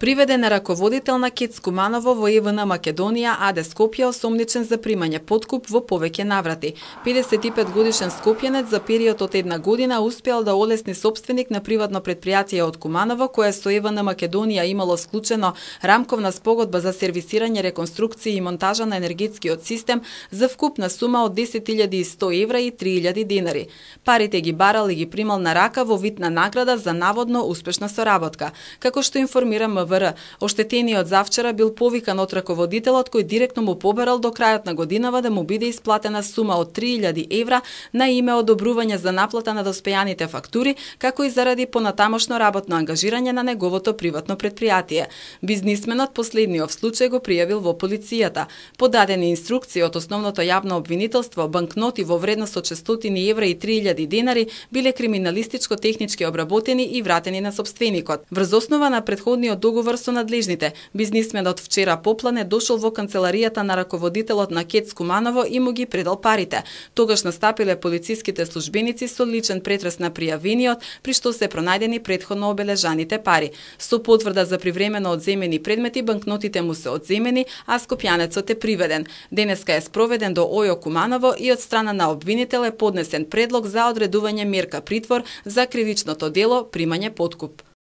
Приведен е раководител на КЕЦ Куманово во ЕВН Македонија АД Скопје осомничен за примање подкуп во повеќе наврати. 55 годишен скопјанец за период од една година успеал да олесни сопственик на приватно предпријатие од Куманово кое со ЕВН Македонија имало склучено рамковна спогодба за сервисирање, реконструкција и монтажа на енергетскиот систем за вкупна сума од 10.100 евра и 3.000 динари. Парите ги барал и ги примал на рака во вид на награда за наводно успешна соработка. Како што информира МВР, оштетениот завчера бил повикан од раководителот кој директно му побарал до крајот на годинава да му биде исплатена сума од 3.000 евра на име одобрување за наплата на доспејаните фактури, како и заради понатамошно работно ангажирање на неговото приватно предпријатие. Бизнисменот последниот случај го пријавил во полицијата. Подадени инструкции од основното јавно обвинителство, банкноти во вредност од 600 евра и 3.000 динари биле криминалистичко-технички обработени и вратени на сопственикот. Врз основа на претходниот договор со надлежните, бизнисменот вчера поплане дошол во канцеларијата на раководителот на КЕЦ Куманово и му ги предал парите. Тогаш настапиле полициските службеници со личен претрес на пријавениот, при што се пронајдени претходно обележаните пари. Со потврда за привремено одземени предмети, банкнотите му се одземени, а скопјанецот е приведен. Денеска е спроведен до ОЈО Куманово и од страна на обвинител е поднесен предлог за одредување мерка притвор за кривичното дело примање подкуп.